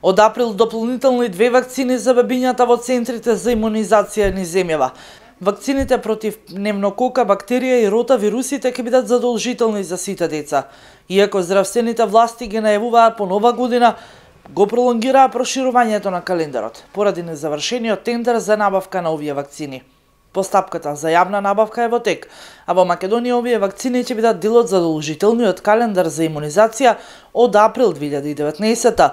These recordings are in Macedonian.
Од април дополнителни 2 вакцини за бебињата во центрите за имунизација низ земјава. Вакцините против пневмокока бактерија и ротавирусите ќе бидат задолжителни за сите деца. Иако здравствените власти ги најавуваат по нова година, го пролонгираа проширувањето на календарот, поради незавршениот тендер за набавка на овие вакцини. Постапката за јавна набавка е во тек, а во Македонија овие вакцини ќе бидат дел од задолжителниот календар за имунизација од април 2019.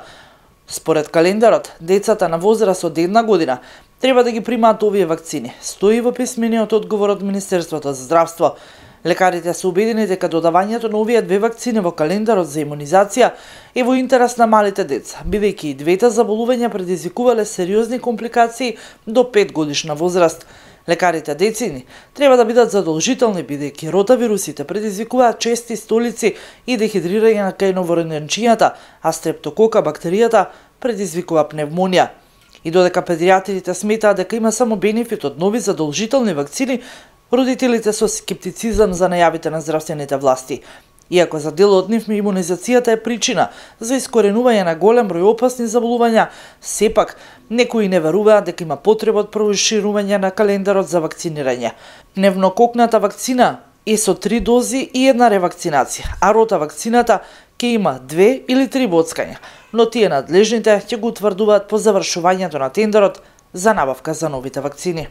Според календарот, децата на возраст од 1 година треба да ги примаат овие вакцини, стои во писмениот одговор од Министерството за здравство. Лекарите се убедени дека додавањето на овие 2 вакцини во календарот за имунизација е во интерес на малите деца, бидејќи и двете заболувања предизвикувале сериозни компликации до 5 годишна возраст. Лекарите децини треба да бидат задолжителни, бидејќи ротавирусите предизвикуваат чести столици и дехидрирање на кајновородничињата, а стрептокока бактеријата предизвикува пневмонија. И додека педијатрите сметаат дека има само бенефит од нови задолжителни вакцини, родителите со скептицизам за најавите на здравствените власти. Иако за дел од нив имунизацијата е причина за искоренување на голем број опасни заболувања, сепак некои не веруваат дека има потреба од проширување на календарот за вакцинирање. Пневмококната вакцина е со 3 дози и 1 ревакцинација, а рота вакцината ќе има 2 или 3 боцкања, но тие надлежните ќе го утврдуваат по завршувањето на тендерот за набавка за новите вакцини.